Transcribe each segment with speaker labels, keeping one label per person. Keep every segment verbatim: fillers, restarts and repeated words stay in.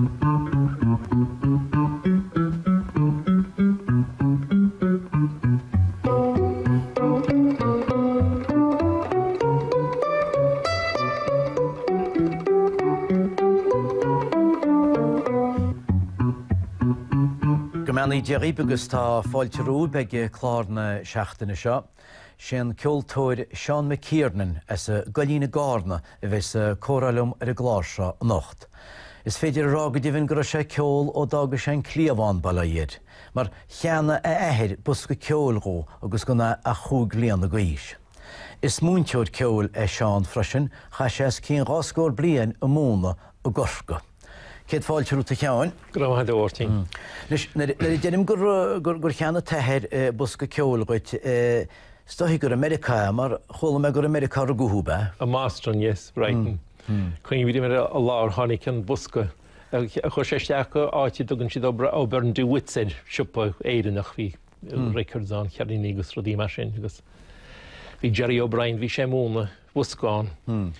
Speaker 1: Go mbeannaí Dia dhaoibh agus tá fáilte romhaibh ag clár na seachtaine seo. Sé an ceoltóir Seán McKiernan as an gCoillín i gCarna a bheas ag comhrá liom ar an gclár seo anocht. Is féidir a rá go deimhin go raibh sé ag ceol ó d'fhága sé an cliabhán, bail ó Dhia air, mar cheannaigh a athair bosca ceoil dhó agus gan é ach chúig bliana d'aois. Is múinteoir ceoil é Seán freisin, chaith sé os cionn dhá scór bliain ag múineadh i gCorcaigh. Céad fáilte romhat a Sheáin.
Speaker 2: Go raibh maith agat a Mháirtín.
Speaker 1: Anois, nuair a deirim gur cheannaigh t'athair bosca ceoil dhuit, is dóichí gur i Meiriceá é, mar chuala mé gur i Meiriceá a rugadh thú, ab ea?
Speaker 2: I mBoston, yes, Brighton. Cuimhním ar an lá ar tháinig an bosca. Chuir sé isteach go áit a dtugann siad O'Byrne DeWitt's air, siopa Éireannach, bhí records ann, ceirníní agus rudaí mar sin agus bhí Jerry O'Brien, bhí sé ag múineadh bosca ann.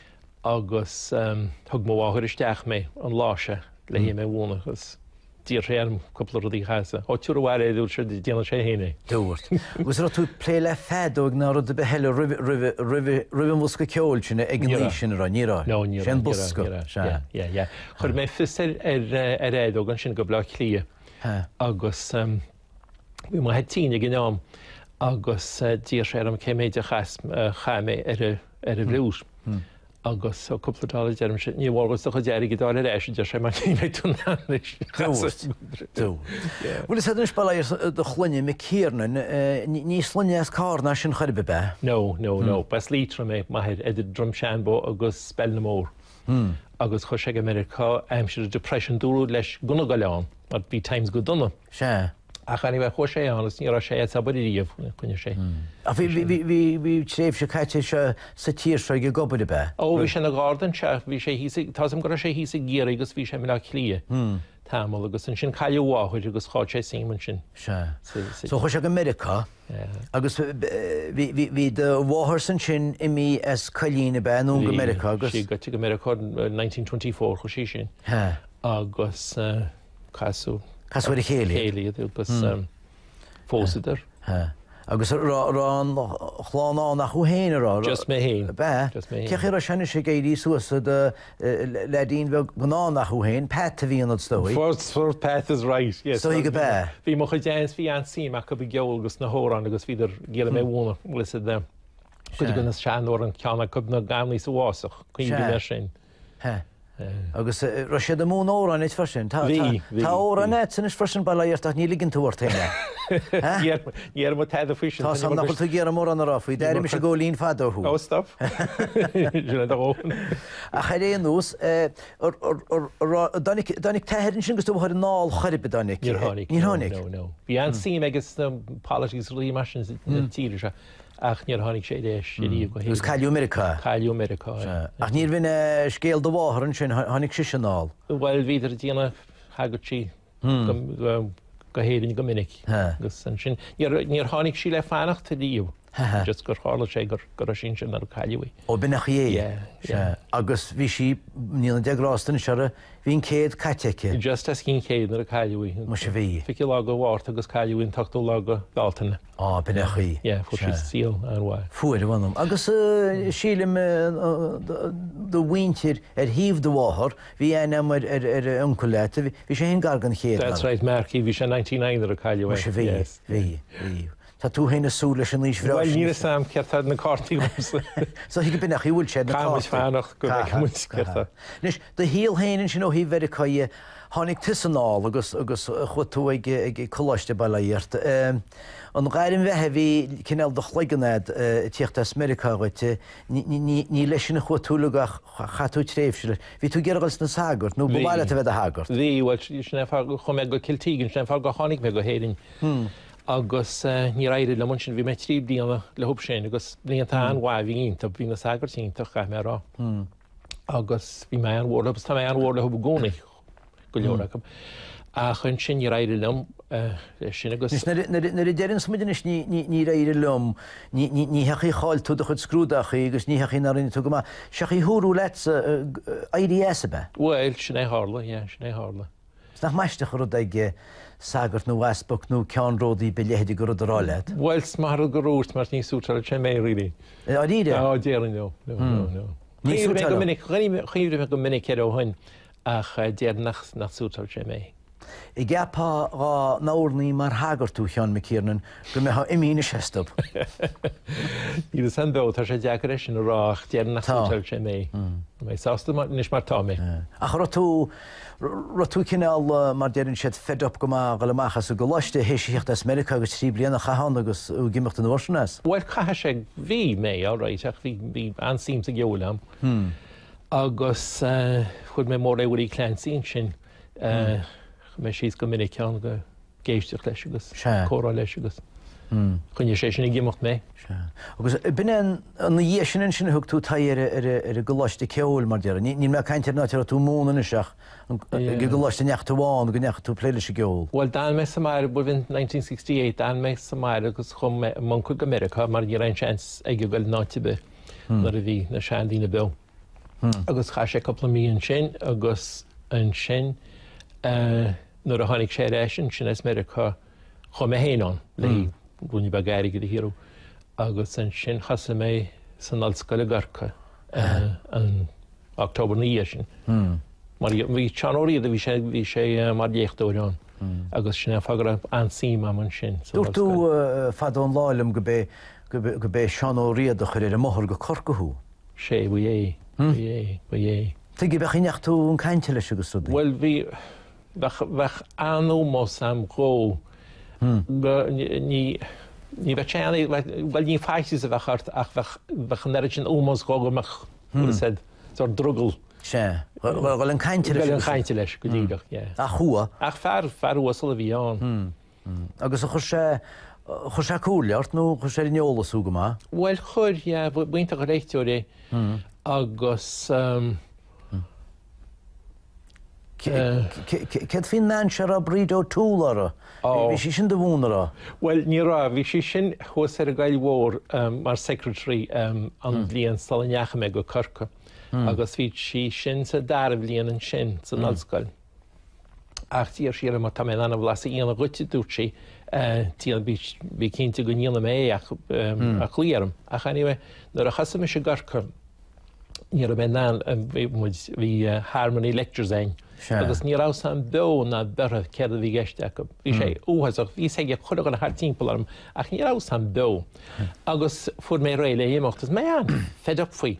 Speaker 2: Agus thug mo mháthair isteach mé an lá seo le hé mé a mhúineadh agus d'iarr sé orm cúpla rudaí a chasadh. Ó tabhair abhaile é, dúirt sé, déanfaidh sé féin é.
Speaker 1: Dúirt. Agus an raibh tú ag plé le feadóg ná rud ar bith eile roimh, roimh, roimh, roimh an bhosca ceoil sin ag an aois sin, an raibh? Ní raibh.
Speaker 2: No, ní raibh.
Speaker 1: Sé an bosca.
Speaker 2: Ní raibh, ní raibh. Yeah, yeah, yeah. Chuir mé fios ar, ar, ar fheadóg ansin go Baile Átha Cliath agus bhí m'athair tinn ag an am agus d'iarr sé orm cé méid a chas, chaith mé ar a, ar an bhfliúit. Agus ó cúpla dollar deirimse, ní mhór dhuit do chuid airgid a fháil ar ais, a deir sé, mar ní bheidh tú in ann anois.
Speaker 1: Dúirt. Dúirt. Bhuel is anois bail ó Dhia ar do shloinne McKiernan, ní sloinne as Carna é sin chor ar bith, ab ea?
Speaker 2: No, no, no. B'as Liatroim é m'athair, idir Droim Seanbhó agus Ballinamore. Agus chuaigh sé go Meiriceá aimsir an Depression, dúradh leis gan a ghoil ann, mar bhí times go dona.
Speaker 1: Sea.
Speaker 2: Ach anyway, chuaigh sé ann agus ní raibh sé as obair ariamh, choinnigh sé.
Speaker 1: Ach bhí, bhí, bhí, bhí tréimhse caite aige sa tír seo ag obair, ab ea?
Speaker 2: Ó, bhí sé ina gharda anseo, bhí sé thíos i, tá 'fhios a'm go raibh sé thíos i gCiarraí agus bhí sé i mBaile Átha Cliath tamall agus ansin cailleadh a mháthair agus chaill sé suim ansin.
Speaker 1: Sea. So chuaigh sé go Meiriceá agus bhí, bhí, bhí do mháthairsa ansin imithe as Coillín, ab ea, anonn go Meiriceá agus.
Speaker 2: Bhí sí gaibhte go Meiriceá in nineteen twenty four, chuaigh sí sin. Agus. Casadh.
Speaker 1: Casadh ar a chéile iad.
Speaker 2: Chéile iad agus phósadar.
Speaker 1: Agus an raibh an chlann ann ach thú féin, an raibh?
Speaker 2: Just mé féin.
Speaker 1: Ab ea?
Speaker 2: Just mé féin.
Speaker 1: Cén chaoi a raibh sé anois ag éirí suas i do leaidín bheag gan ann ach thú féin? Pat a bhí ionat is dóigh.
Speaker 2: First, first Pat is right, yes.
Speaker 1: Is dóigh go b'ea.
Speaker 2: Bhí mo chuid aunts, bhí an-suim acu i gceol agus sna hamhráin agus bhíodar ag iarraidh mé a mhúineadh, bhfuil fhios a'd. Cuid de na seanamhráin, ceann acu ná Ganlaí sa bhFásach, cuimhním air sin.
Speaker 1: He. Agus raibh siad ag múineadh amhráin duit freisin? Tá,
Speaker 2: Bhí, bhí.
Speaker 1: Tá amhráin a'dsa anois freisin, bail ó Dhia ort, ach ní ligeann tú ort féin é.
Speaker 2: Ní déarfaidh mé tada faoi sin.
Speaker 1: Tá 's a'm nach bhfuil tú ag iarraidh mórán a rá faoi, d'airigh mise góilín fada thú.
Speaker 2: Oh, stop. Sin é do dhóthain.
Speaker 1: Ach ar aon nós, dtáinig, dtáinig t'athair ansin agus do mháthair anall chor ar bith, dtáinig?
Speaker 2: Níor tháinig.
Speaker 1: Níor tháinig?
Speaker 2: No, no, no. Bhí an-suim aige sna politics agus rudaí mar sin sa tír seo. Ach níor tháinig sé ar ais ariamh go hÉirinn.
Speaker 1: Agus cailleadh i Meiriceá é.
Speaker 2: Cailleadh i Meiriceá é.
Speaker 1: Sea. Ach níorbh in é scéal do mháthar ansin, tháinig sise anall.
Speaker 2: Bhuel, bhíodar ag déanamh, thagadh sí go hÉirinn go minic. Agus ansin, níor tháinig sí le fanacht ariamh. Just gur tharla sé go raibh sí ansin nuair a cailleadh í.
Speaker 1: Ó, b'in an chaoi é.
Speaker 2: Yeah, yeah.
Speaker 1: Sea. Agus bhí sí, ní na deich grásta anois uirthi, bhí an céad caite aici.
Speaker 2: Just os cionn céad nuair a cailleadh í.
Speaker 1: Muise bhí.
Speaker 2: Fichiú lá de Mhárta agus cailleadh í an t-ochtú lá de Bhealtaine.
Speaker 1: Á, b'in é an chaoi.
Speaker 2: Yeah, fuair sí saol an-mhaith.
Speaker 1: Fuair, a mh'anam. Agus sílim do mhuintir ar thaobh do mháthar, bhí aithne agam ar ar uncail leat, bhí sé féin gar don chéad,
Speaker 2: That's right, Marky, bhí sé ninety nine nuair a cailleadh é.
Speaker 1: Muise bhí, bhí, bhí. Tá tú féin ag súil leis an aois bhreá
Speaker 2: sin. Bhuel, níl fhios a'm céard tá na cártaí agamsa.
Speaker 1: So thuig b'in é an chaoi a bhfuil sé, na
Speaker 2: cártaí. Caithfidh muid fanacht go bhfeicfidh muid céard tá.
Speaker 1: Anois, do shaol féin ansin ó thaobh Mheiriceá dhe, Tháinig tusa anall agus agus chuaigh tú ag ag coláiste, bail ó Dhia ort. An ghairm bheatha a bhí cineál i do chloigeann a'd ag tíocht as Meiriceá dhuit, ní ní ní leis sin a chuaigh tú uilig ach chaith tú tréimhse leis. Bhí tú ag iarraidh dul sna sagairt nó ba mhaith leat a bheith i do shagart?
Speaker 2: Bhí, bhuel sin é an fáth gur chuaigh mé go Cill Teagan, sin é an fáth gur tháinig mé go hÉirinn agus níor éirigh liom ansin, bhí mé trí bliana leo sin agus blianta an-mhaith a bhí iontu, bhí na sagairt iontach, caithfidh mé a rá. Agus bhí mé an-mhór leo, agus tá mé an-mhór leo i gcónaí, go leor acu. Ach ansin níor éirigh liom leis sin agus.
Speaker 1: Anois nuair a deireanns muid anois níor éirigh liom, ní hé chaoi chaill tú do chuid scrúdachaí agus ní hé chaoi nár rinne tú go maith, sé chaoi dúradh leatsa éirí as, ab ea?
Speaker 2: Bhuel, sin é a tharla, yeah, sin é a tharla.
Speaker 1: Is nach aisteach an rud ag sagart nó easpag nó ceannródaí ba leithéide de rud a rá leat?
Speaker 2: Bhuel, is maith rud gur dhúirt mar ní suiteáil sé mé really.
Speaker 1: Dáiríre?
Speaker 2: Á, déarfainn no, no, no, no.
Speaker 1: Ní
Speaker 2: Chuimhnigh mé go
Speaker 1: suiteáil.
Speaker 2: minic, chuimhnigh mé go minic air ó shin ach déarfainn nach, nach suiteáil sé mé.
Speaker 1: An gceapfá dhá n-oirní mar shagart thú, a Sheáin McKiernan, go mbeifeá imithe anois astu.
Speaker 2: Níl fhios a'm beo, tá sé deacair é sin a rá ach déarfainn nach
Speaker 1: Tá.
Speaker 2: suiteáil sé mé. Tá mé sásta anois mar tá mé.
Speaker 1: Ach raibh tú, raibh tú cineál, mar deireann siad, fed up go maith, dhul amach as an gcoláiste, théis a theacht as Meiriceá agus trí bliana a chaitheamh ann agus thú ag imeacht an uair sin as?
Speaker 2: Bhuel, caithfidh sé, bhí mé, alright, ach bhí, bhí an-suim sa gceol a'm. Agus fuair mé mór é Willie Clancy ansin. Chuaigh mé síos go minic ann go éisteacht leis agus comhrá leis agus choinnigh sé sin ag imeacht mé.
Speaker 1: Agus b'in é ina dhiaidh sin ansin a thug tú aghaidh ar ar an gcoláiste ceoil mar déarfá. Níl mé ag caint ar an áit a raibh tú ag múineadh anois ach ag an gcoláiste a ndeachaigh tú ann go ndeachaigh tú ag plé leis an gceol.
Speaker 2: Bhuel d'fhan mé sa mbaile, bhuel nineteen sixty eight d'fhan mé sa mbaile agus chuaigh mé m'uncail go Meiriceá mar ní raibh aon seans aige dul in áit ar bith nuair a bhí na seandaoine beo. Agus chaith sé cúpla mí ansin agus ansin nuair a tháinig sé ar ais ansin as Meiriceá chuaigh mé féin ann le ruainne beag airgid a shaothrú agus ansin thosaigh mé san ollscoil i gCorcaigh an October na dhiaidh sin. Mar bhí Seán Ó Riada, bhí sé bhí sé mar léachtóir ann agus sin é an fáth go raibh an-suim agam ansin san
Speaker 1: Dúirt tú
Speaker 2: ollscoil.
Speaker 1: fadó an lá liom go b'é go b'é Seán Ó Riada a chuir ar an mbóthar go Corcaigh thú.
Speaker 2: Sé, ba é, ba é, ba é.
Speaker 1: Tuige, b'é chaoi ndeachaigh tú chun cainte leis agus rudaí?
Speaker 2: Bhuel, bhí, bheadh, bheadh an-ómós a'm dhó. Go, ní, ní bheadh sé an, bhuel ní faitíos a bheadh ort ach bheadh, bheadh an oiread sin ómós dhó go mbeadh, bhfuil a fhios a'd, sórt drogall.
Speaker 1: Sea, dhul chun cainte leis.
Speaker 2: Dhul chun cainte leis, go díreach, yeah.
Speaker 1: Ach chuaigh?
Speaker 2: Ach fear, fear uasal a bhí ann.
Speaker 1: Agus a chuir sé, chuir sé comhairle ort nó chuir sé ar an eolas thú go maith?
Speaker 2: Bhuel chuir, yeah, b'iontach an léachtóir é agus ehm.
Speaker 1: Céard faoin mbean seo a raibh Bríd O'Toole uirthi? Bhí sí sin do mhúineadh, an raibh?
Speaker 2: Bhuel ní raibh, bhí sí sin thuas ar an gCoill Mhór mar secretary an bhliain sula ndeachaigh mé go Corcaigh agus bhí sí sin sa dara bhliain ansin san ollscoil. Ach d'iarr sí orm má tá mé in ann an blas a dhéanamh dhuit, a dúirt sí, déan, bí cinnte go ndéanfaidh mé é ach ach glaoigh orm. Ach anyway, nuair a thosaigh mise i gCorcaigh, ní raibh mé in ann, bhí muid, bhí harmony lectures againn agus ní raibh a fhios a'm beo ná beirthe céard a bhí i gceist acu. Bhí sé uafásach, bhí a fhios ag chuile dhuine thart timpeall orm ach ní raibh a fhios a'm beo. Agus fuair mé réidh le himeacht is mé an-fed up faoi.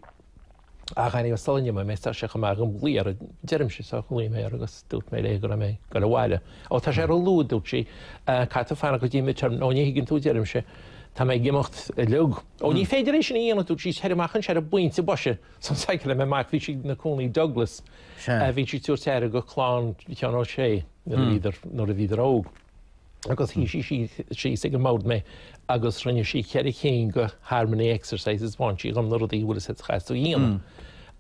Speaker 2: Ach anyway, sula n-imeoidh mé, tá sé chomh maith agam glaoch uirthi, deirimse, so ghlaoigh mé uirthi agus dúirt mé léi go raibh mé ag dul abhaile. Ó, tá sé ró-luath, a dúirt sí, caithfidh tú fanacht go dtí midterm, nó ní thuigeann tú, deirimse, tá mé ag imeacht uilig. Ó, ní féidir é sin a dhéanamh, a dúirt sí, tar amach anseo ar an bpointe boise. So cycle mé amach, bhí sí ina cónaí i Douglas, bhí sí ag tabhairt aire go clann Sheáin Ó Sé nuair a bhíodar, nuair a bhíodar óg. Agus shuigh sí síos ag an mbord mé agus rinne sí ceithre cinn de harmony exercises, mhúin sí dhom na rudaí bhfuil a fhios a'd a chaithfeas tú a dhéanamh.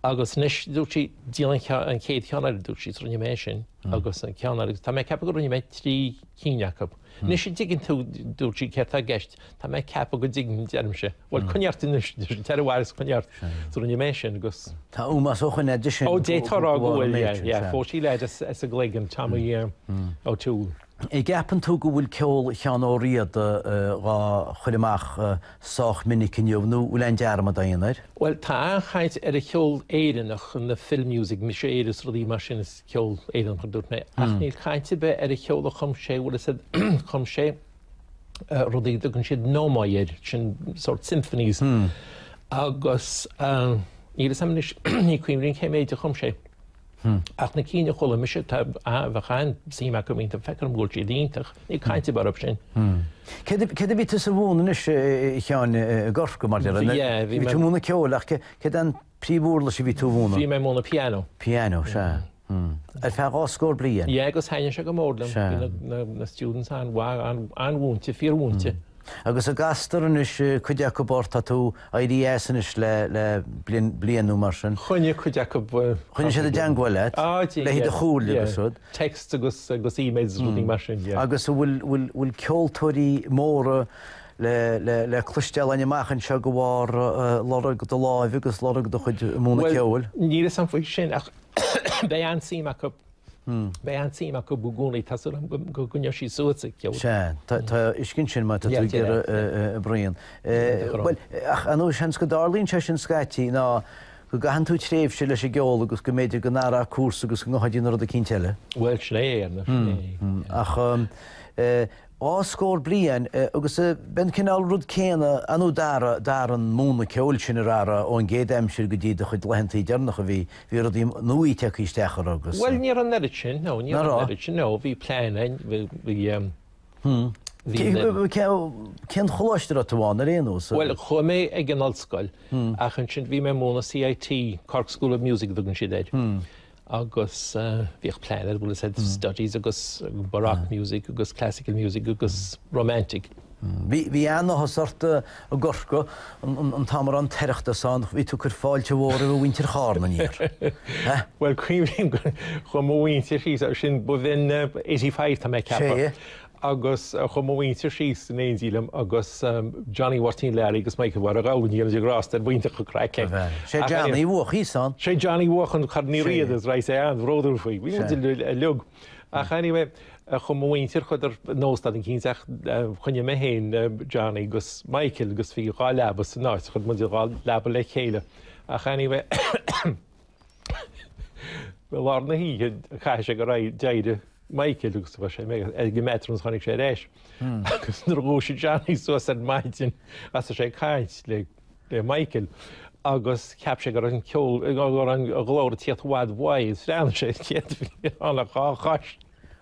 Speaker 2: Agus anois, dúirt sí, déan an chéad cheann eile, dúirt sí, so rinne mé é sin agus an ceann eile, agus tá mé ag ceapadh go rinne mé trí cinn acu. Anois an dtuigeann tú, dúirt sí, céard tá i gceist, tá mé ag ceapadh go dtuigim, deirimse. Bhuel, coinnigh ort anois, tar abhaile is coinnigh ort. So rinne mé sin agus.
Speaker 1: Tá ómós ó shoin aige sin.
Speaker 2: Ó, d'fhéadfá a rá go bhfuil, yeah, yeah. Phós sí leaid as an gCloigeann, Tommy O'Toole.
Speaker 1: An gceapann tú go bhfuil ceol Sheáin Ó Riada dhá chur amach sách minic inniu nó bhfuil aon dearmad á dhéanamh air?
Speaker 2: Bhuel, tá an-chaint ar an cheol Éireannach, na film music, Mise Éire is rudaí mar sin, is ceol Éireannach a dúirt mé, ach níl caint ar bith ar an cheol a chum sé, bhfuil a fhios a'd, chum sé rudaí a dtugann siad nomoi air, sin sórt symphonies, agus níl a fhios a'm anois, ní cuimhin liom cé méid a chum sé. Ach na cinn a chuala mise, tá, bheadh an-suim acu iontu, feictear dom go bhfuil siad iontach, níl caint ar bith orthu sin.
Speaker 1: Céard a bhí tusa a mhúineadh anois, a Sheáin, i gCorcaigh, mar deir?
Speaker 2: Yeah, bhí
Speaker 1: Bhí tú ag múineadh ceoil, ach céard é an príomhuirlis a bhí tú a mhúineadh?
Speaker 2: Bhí mé ag múineadh piano.
Speaker 1: Piano, sea. Ar feadh dhá scór bliain?
Speaker 2: Yeah, agus thaitnigh sé go mór liom. Bhí na students an-mhaith, an-mhúinte, fíormhúinte.
Speaker 1: Agus an gcastar anois cuid acu ort, tá tú éirithe as anois le le bliain bliain nó mar sin.
Speaker 2: Choinnigh cuid acu.
Speaker 1: Choinnigh siad i dteangmháil leat?
Speaker 2: Ah,
Speaker 1: Le do chomhairle agus rud.
Speaker 2: Text agus agus emails agus rudaí mar sin, yeah.
Speaker 1: Agus an bhfuil bhfuil bhfuil ceoltóirí móra le le le cloisteáil againn amach anseo de bharr lorg do láimhe agus lorg do chuid múineadh ceoil?
Speaker 2: Níl a fhios agam faoi sin ach beidh an-suim acu Beidh an-suim acu i gcónaí, tá súil agam go gcoinneoidh siad suas ag ceol.
Speaker 1: Sea, tá uisce ansin má tá tú ag iarraidh braon. Bhuel, ach ar ndóigh, seans go dtarlaíonn sé sin scaití ná go gcaitheann tú tréimhse leis an gceol agus go mb'fhéidir go n-athródh cúrsa agus go ngabhfá dtí rud eicínt eile.
Speaker 2: Bhuel, sin é, ar ndóigh, sin é.
Speaker 1: Ach dhá scór bliain agus b'é an cineál rud céanna ar ndóigh d'athraigh an múineadh ceoil sin ar athraigh ón gcéad aimsir go dtí do chuid laethantaí deireanacha bhí bhí rudaí nua tagtha isteach orthu agus.
Speaker 2: Bhuel ní raibh an oiread sin, no, ní raibh an oiread sin, no, bhí plean ann, bhí, bhí, bhí na.
Speaker 1: Cén choláiste a raibh tú ann ar aon nós?
Speaker 2: Bhuel chuaigh mé ag an ollscoil ach ansin bhí mé ag múineadh CIT, Cork School of Music a dtugann siad air. agus bhíodh plean ar bhfuil a fhios agat studies agus baroque music agus classical music agus romantic.
Speaker 1: Bhí bhí an-áthas ort i gCorcaigh an t-am a raibh an tOireachtas ann, bhí tú ag cur fáilte mhór roimh mhuintir Chárna aniar.
Speaker 2: Bhuel cuimhním gur chuaigh mo mhuintir síos, sin ba bhinn eighty five tá mé ag ceapadh.
Speaker 1: Sé.
Speaker 2: Agus chuaigh mo mhuintir síos in éindí liom agus Johnny Mháirtín Learaí agus Michael Mháire Ghabhann, go ndéana Dia grásta air, b'iontach an craic é.
Speaker 1: Sé Johnny a bhuaigh thíos ann.
Speaker 2: Sé Johnny a bhuaigh an Corn Uí Riada is raibh sé an-bhródúil faoi. Bhí muid uilig. Ach anyway, chuaigh mo mhuintir, chuadar in óstán eicínt ach choinnigh mé féin Johnny agus Michael agus bhí dhá leaba san áit, chuir muid dhá leaba le chéile. Ach anyway, i lár na hoíche chaithfidh sé go raibh d'éirigh Michael agus bhí sé ag an mbathroom agus tháinig sé ar ais. Agus nuair a dhúisigh Johnny suas ar maidin thosaigh sé ag caint le le Michael agus cheap sé go raibh an ceol go raibh an glór ag tíocht i bhfad uaidh agus bhreathnaigh sé an chéad bhí ann ach dhá chois.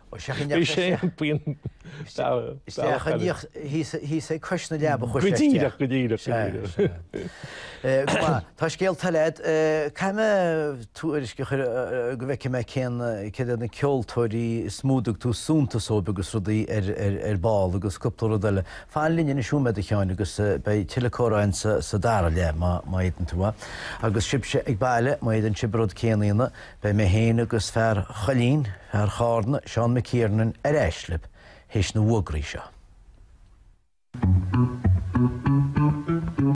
Speaker 1: Bhí sé iompaíonn Isteach thíos ag cois na leaba
Speaker 2: chuir sé isteach. Go díreach, go díreach, go díreach.
Speaker 1: Go maith. Tá scéalta eile agat. Caithfidh mé tuairisc a chur go bhfeicfidh mé cén céard iad na ceoltóirí is mó a dtug tú suntas dóibh agus rudaí ar ar ball agus cúpla rud eile. Fan linn anois nóiméad a Sheáin agus beidh tuilleadh comhrá againn sa dara leath má má fhéadann tú. Agus sibhse ag baile má fhéadann sibh an rud céanna a dhéanamh beidh mé féin agus fear Choillín, fear Chárna, Seán McKiernan ar ais libh théis na bhfógraí seo.